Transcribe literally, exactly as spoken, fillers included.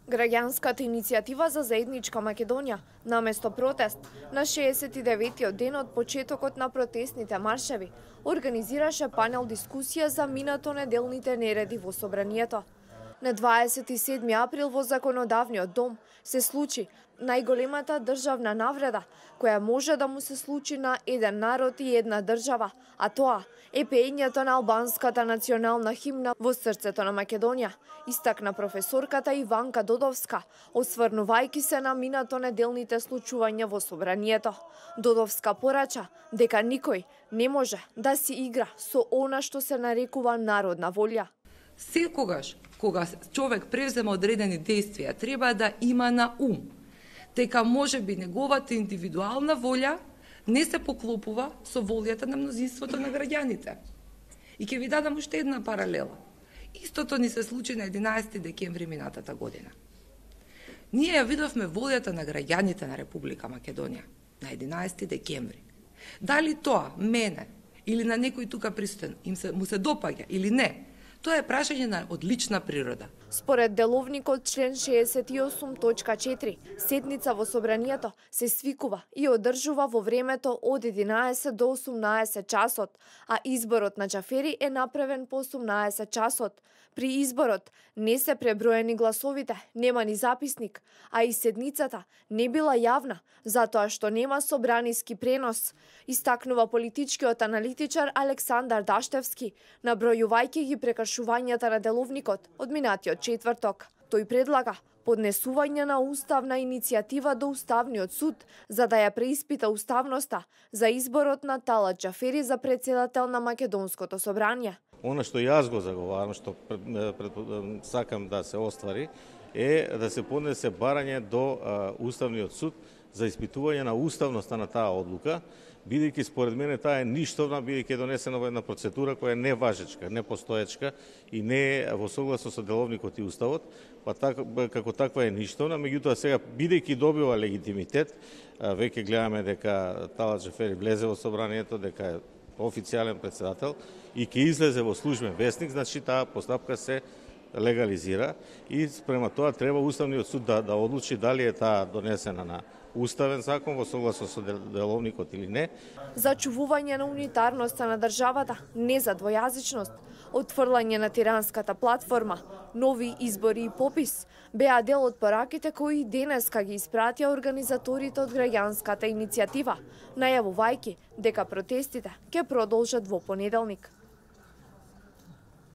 Граѓанската иницијатива за заедничка Македонија, наместо протест, на шеесет и деветиот ден од почетокот на протестните маршеви, организираше панел дискусија за минато неделните нереди во собранието. На дваесет и седми април во Законодавниот дом се случи најголемата државна навреда која може да му се случи на еден народ и една држава, а тоа е пеењето на албанската национална химна во срцето на Македонија, истакна професорката Иванка Додовска, осврнувајќи се на минато неделните случувања во собранието. Додовска порача дека никој не може да си игра со она што се нарекува народна волја. Секогаш кога човек превзема одредени действија, треба да има на ум дека можеби неговата индивидуална волја не се поклопува со волјата на мнозинството на граѓаните. И ќе ви дадам уште една паралела. Истото ни се случи на единаесети декември минатата година. Ние ја видовме волјата на граѓаните на Република Македонија на единаесети декември. Дали тоа мене или на некој тука пристоен им се му се допаѓа или не, тоа е прашање на одлична природа. Според деловникот член шеесет и осум точка четири, седница во собранието се свикува и одржува во времето од единаесет до осумнаесет часот, а изборот на Џафери е направен по осумнаесет часот. При изборот не се преброени гласовите, нема ни записник, а и седницата не била јавна, затоа што нема собраниски пренос, истакнува политичкиот аналитичар Александар Даштевски, набројувајќи ги прекршувањата на деловникот од минатиот четврток. Тој предлага поднесување на уставна иницијатива до Уставниот суд за да ја преиспита уставноста за изборот на Талат Џафери за председател на Македонското собрание. Она што јас го заговарам, што пред, пред, сакам да се оствари, е да се поднесе барање до а, Уставниот суд за испитување на уставноста на таа одлука, бидејќи според мене таа е ништовна, бидејќи е донесена во една процедура која е неважечка, непостоечка и не е во согласно со деловникот и уставот, па так, како таква е ништовна, меѓутоа сега бидејќи добива легитимитет, веќе гледаме дека Талат Џафери влезе во собранието, дека е официјален председател и ќе излезе во службен весник, значи таа постапка се легализира и спрема тоа треба Уставниот суд да, да одлучи дали е таа донесена на уставен закон во согласно со деловникот или не. Зачувување на унитарноста на државата, не за двојазичност, отфрлање на тиранската платформа, нови избори и попис беа дел од пораките кои денеска ги испратија организаторите од граѓанската иницијатива, најавувајќи дека протестите ќе продолжат во понеделник.